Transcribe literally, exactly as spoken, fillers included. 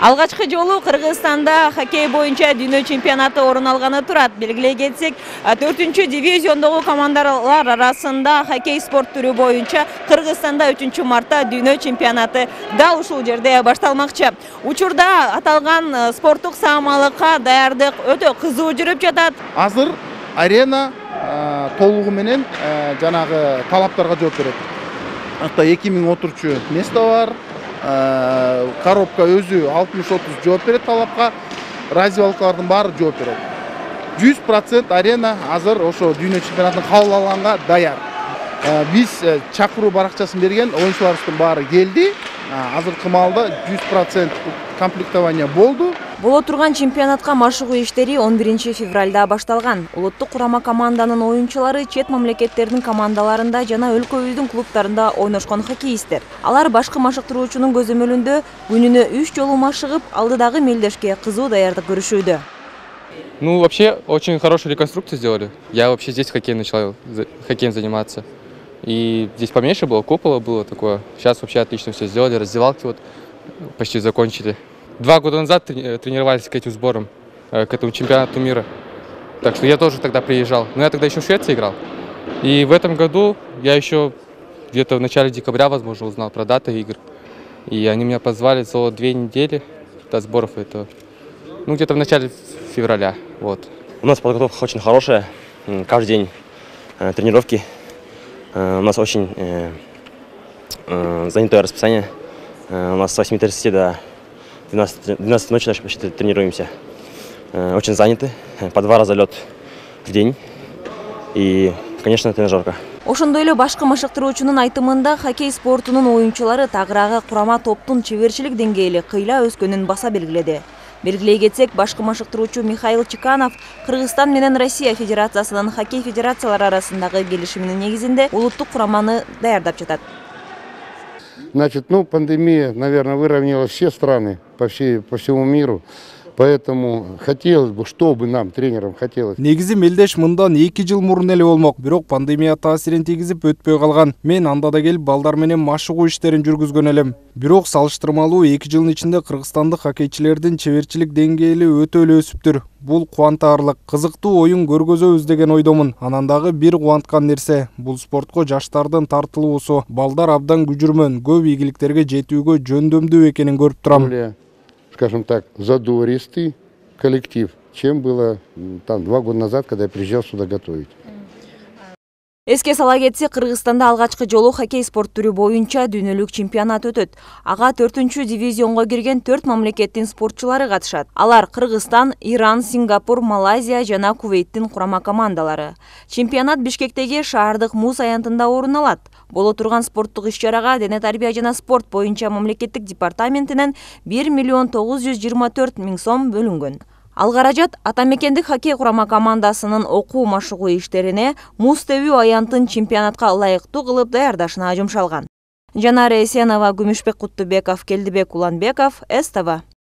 Алгачкы жолу Кыргызстанда хоккей боюнча дүйнө чемпионаты орун алганы турат. Белгилей кетсек, төртүнчү дивизиондогу командалар арасында хоккей спорт түрү боюнча Кыргызстанда үчүнчү мартта дүйнө чемпионаты дал ушул жерде башталмакчы. Учурда аталган спорттук саамалыкка даярдык өтө кызуу жүрүп жатат. Азыр арена толугу менен жанагы талаптарга жооп берет. Ата эки миң отурчу место бар. Коробка өзү алтымыш отуз жооп берет талапка, раздевалкалардын баары жооп берет. жүз процент арена азыр ошо дүйнө чемпионатына кабыл алганга даяр. Биз чакыруу баракчасын берген, оюнчуларыбыздын баары келди. Азыркы маалда жүз процент комплектование болду. Боло турган чемпионатка машыгуу иштери он биринчи февралда башталган. Улуттук курама команданын оюнчулары чет мамлекеттердин командаларында жана өлкөбүздүн клубтарында ойношкон хоккеисттер. Алар башкы машыктыруучунун көзөмөлүндө күнүнө үч жолу машыгып, алдыдагы мелдешке кызуу даярдык көрүшүүдө. Ну, вообще, очень хорошую реконструкцию сделали. Я вообще здесь хоккей начал хоккеем заниматься. И здесь поменьше было, купола было такое. Сейчас вообще отлично все сделали, раздевалки вот почти закончили. Два года назад тренировались к этим сборам, к этому чемпионату мира. Так что я тоже тогда приезжал. Но я тогда еще в Швеции играл. И в этом году я еще где-то в начале декабря, возможно, узнал про даты игр. И они меня позвали за две недели до сборов. Это, ну, где-то в начале февраля. Вот. У нас подготовка очень хорошая. Каждый день э, тренировки. Э, у нас очень э, э, занятое расписание. Э, у нас с восьми тридцати до двенадцати ночи почти тренируемся. Очень заняты. По два раза лед в день. И, конечно, тренажерка. Ошондой эле башкы машыктыруучунун айтымында хоккей спортунун оюнчулары тагыраагы курама топтун чеберчилик деңгээли кыйла өскөнүн баса белгиледи. Белгилей кетсек, башкы машыктыруучу Михаил Чеканов Кыргызстан менен Россия Федерациясынын хоккей федерациялары арасындагы келишиминин негизинде улуттук кураманы даярдап жатат. Значит, ну, пандемия, наверное, выровняла все страны по, всей, по всему миру. Поэтому хотелось бы, чтобы нам, тренерам, хотелось. Негизи мелдеш мындан эки жыл мурун эле болмок, бирок пандемия таасирин тийгизип өтпөй калган. Мен анда да келип балдар менен машыгуу иштерин жүргүзгөн элем. Бирок салыштырмалуу эки жылдын ичинде кыргызстандык хоккейчилердин чеберчилик деңгээли өтө эле өсүптүр. Бул кубантаарлык, кызыктуу оюн көргөзөбүз деген ойдомун. Анан дагы бир кубанткан нерсе, бул спортко жаштардын тартылуусу. Балдар абдан күжүрмөн, көп ийгиликтерге жетүүгө жөндөмдүү экенин көрүп турам. Скажем так, задористый коллектив, чем было там два года назад, когда я приезжал сюда готовить. Эске сала кетсек, Кыргызстанда алгачкы жолу хоккей спорт түрү боюнча дүйнөлүк чемпионат өтөт. Ага төртүнчү дивизионго кирген төрт мамлекеттин спортчулары катышат. Алар Кыргызстан, Иран, Сингапур, Малайзия жана Кувейттин курама командалары. Чемпионат Бишкектеги шаардык муз аянтында орун алат. Боло турган спорттук иш-чарага дене тарбия жана спорт боюнча мамлекеттик департаментинен бир миллион тогуз жүз жыйырма төрт миң сом бөлүнгөн. Ал каражат атамекендик хоккей курама командасынын окуу машыгуу иштерине муз тебүү аянтын чемпионатка ылайыктуу кылып даярдашына жумшалган. Жанара Эсенова, Күмүшбек Куттубеков, Келдибек Уланбеков, СТВ.